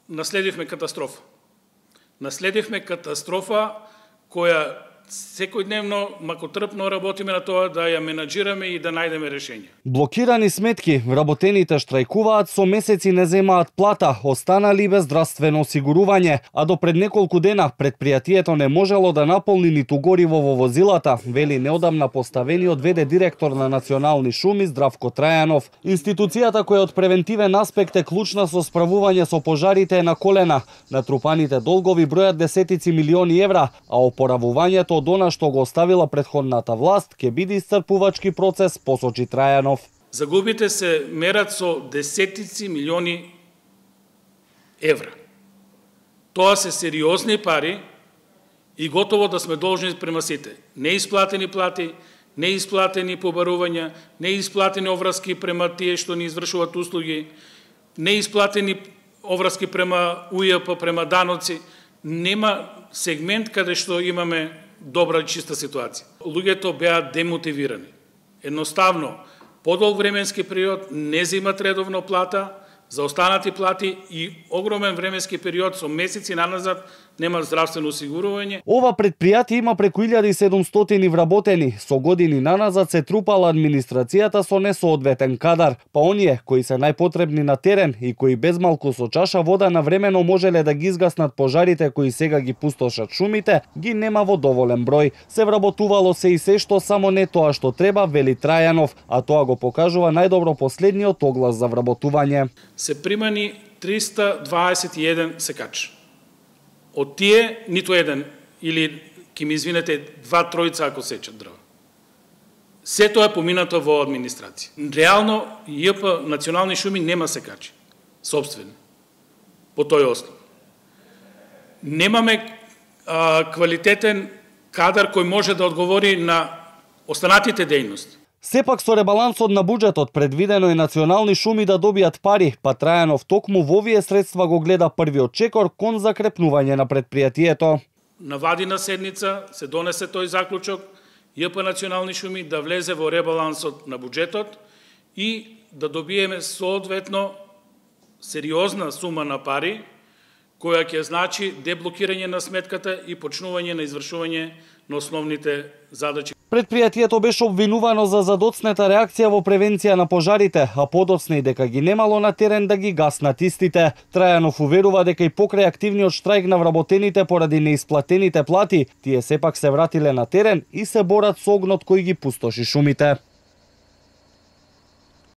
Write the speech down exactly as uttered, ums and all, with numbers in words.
наследивме катастрофа. Наследивме катастрофа која секојдневно макотрпно работиме на тоа да ја менаџираме и да најдеме решење. Блокирани сметки, вработените штрајкуваат, со месеци не земаат плата, останали без здравствено осигурување, а до пред неколку дена предпријатието не можело да наполни ниту гориво во возилата, вели неодамна поставениот ве де директор на Национални шуми Здравко Трајанов. Институцијата која од превентивен аспект е клучна со справување со пожарите е на колена. Натрупаните долгови бројат десетици милиони евра, а опоравувањето од она што го оставила претходната власт ќе биде исцрпувачки процес, посочи Трајанов. Загубите се мерат со десетици милиони евра. Тоа се сериозни пари и готово да сме должни према сите. Неисплатени плати, неисплатени побарувања, неисплатени овраски према тие што ни извршуваат услуги, неисплатени овраски према у и еп, према даноци. Нема сегмент каде што имаме добра и чиста ситуација. Луѓето беа демотивирани. Едноставно, подолг временски период не земат редовно плата, за останати плати и огромен временски период со месеци наназад нема здравствено осигурување. Ова предпријатие има преку илјада и седумстотини вработени. Со години наназад се трупала администрацијата со несоодветен кадар, па оние кои се најпотребни на терен и кои безмалку со чаша вода навремено можеле да ги изгаснат пожарите кои сега ги пустошат шумите, ги нема во доволен број. Се вработувало се и се што, само не тоа што треба, вели Трајанов, а тоа го покажува најдобро последниот оглас за вработување. Се примани триста дваесет и еден секач. Од тие ниту еден, или ки ми извинете, два тројца ако сечат дрва. Сето е поминато во администрација. Реално и еп Национални шуми нема секачи собствени по тој основ. Немаме а, квалитетен кадар кој може да одговори на останатите дејности. Сепак со ребалансот на буџетот предвидено е Национални шуми да добијат пари, па Трајанов токму во овие средства го гледа првиот чекор кон закрепнување на предпријатието. На вадина седница се донесе тој заклучок, и еп Национални шуми да влезе во ребалансот на буџетот и да добиеме соодветно сериозна сума на пари, која ќе значи деблокирање на сметката и почнување на извршување на основните задачи. Предпријатието беше обвинувано за задоцнета реакција во превенција на пожарите, а подоцна и дека ги немало на терен да ги гаснат истите. Трајанов уверува дека и покрај активниот штрајк на вработените поради неисплатените плати, тие сепак се вратиле на терен и се борат со огнот кој ги пустоши шумите.